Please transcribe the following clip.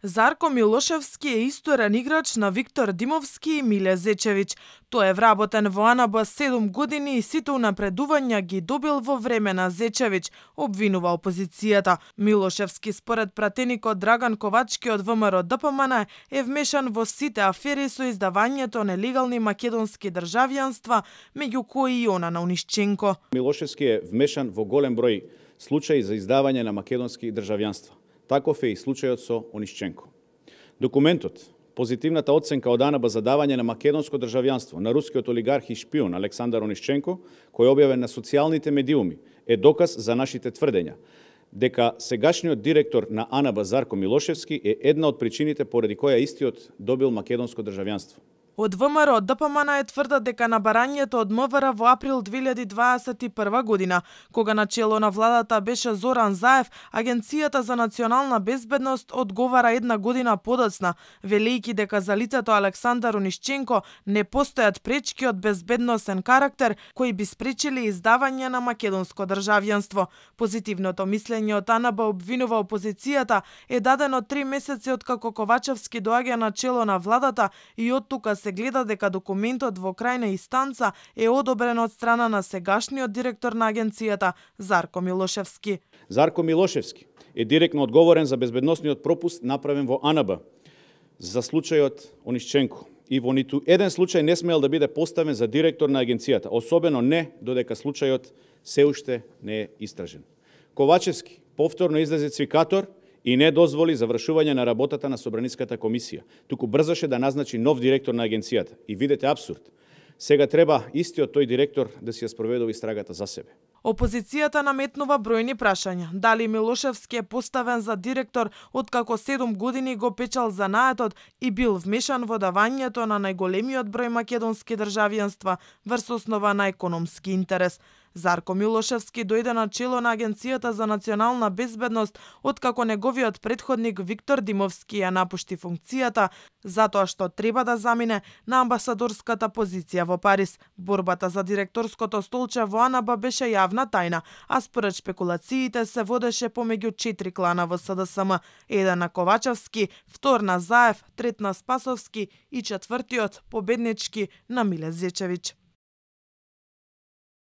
Зарко Милошевски е исторен играч на Виктор Димовски и Миле Зечевиќ. Тој е вработен во АНБ 7 години и сите унапредувања ги добил во време на Зечевиќ, обвинува опозицијата. Милошевски според пратеникот Драган Ковачки од ВМРО ДПМН е вмешан во сите афери со издавањето нелегални македонски државјанства, меѓу кои и она на Онишченко. Милошевски е вмешан во голем број случаи за издавање на македонски државјанства. Таков е и случајот со Онишченко. Документот, позитивната оценка од АНБ за давање на македонско државјанство на рускиот олигарх и шпион Александар Онишченко, кој е објавен на социјалните медиуми, е доказ за нашите тврдења дека сегашниот директор на АНБ Зарко Милошевски е една од причините поради која истиот добил македонско државјанство. Од ВМРО ДПМН е тврдат дека на барањето од МВР во април 2021 година, кога на чело на владата беше Зоран Заев, Агенцијата за национална безбедност одговара една година подоцна, велејќи дека за лицето Александар Онишченко не постојат пречки од безбедносен карактер кои би спречили издавање на македонско државјанство. Позитивното мислење од АНБ обвинува опозицијата е дадено 3 месеци откако Ковачевски доаѓа на чело на владата и оттука се гледа дека документот во крајна инстанца е одобрен од страна на сегашниот директор на агенцијата Зарко Милошевски. Зарко Милошевски е директно одговорен за безбедносниот пропуст направен во АНБ за случајот Онишченко и во ниту еден случај не смеел да биде поставен за директор на агенцијата, особено не додека случајот се уште не е истражен. Ковачевски повторно излезе цвикатор и не дозволи завршување на работата на Собраниската комисија, туку брзаше да назначи нов директор на агенцијата. И видете абсурд. Сега треба истиот тој директор да си ја спроведува истрагата за себе. Опозицијата наметнува бројни прашања. Дали Милошевски е поставен за директор откако 7 години го печал занаетот и бил вмешан во давањето на најголемиот број македонски државјанства врз основа на економски интерес. Зарко Милошевски дојде на чело на Агенцијата за национална безбедност откако неговиот претходник Виктор Димовски ја напушти функцијата затоа што треба да замине на амбасадорската позиција во Париз. Борбата за директорското столче во АНБ беше јавна тајна, а според шпекулациите се водеше помеѓу 4 клана во СДСМ, еден на Ковачевски, втор на Заев, трет на Спасовски и четвртиот победнички на Миле Зечевиќ.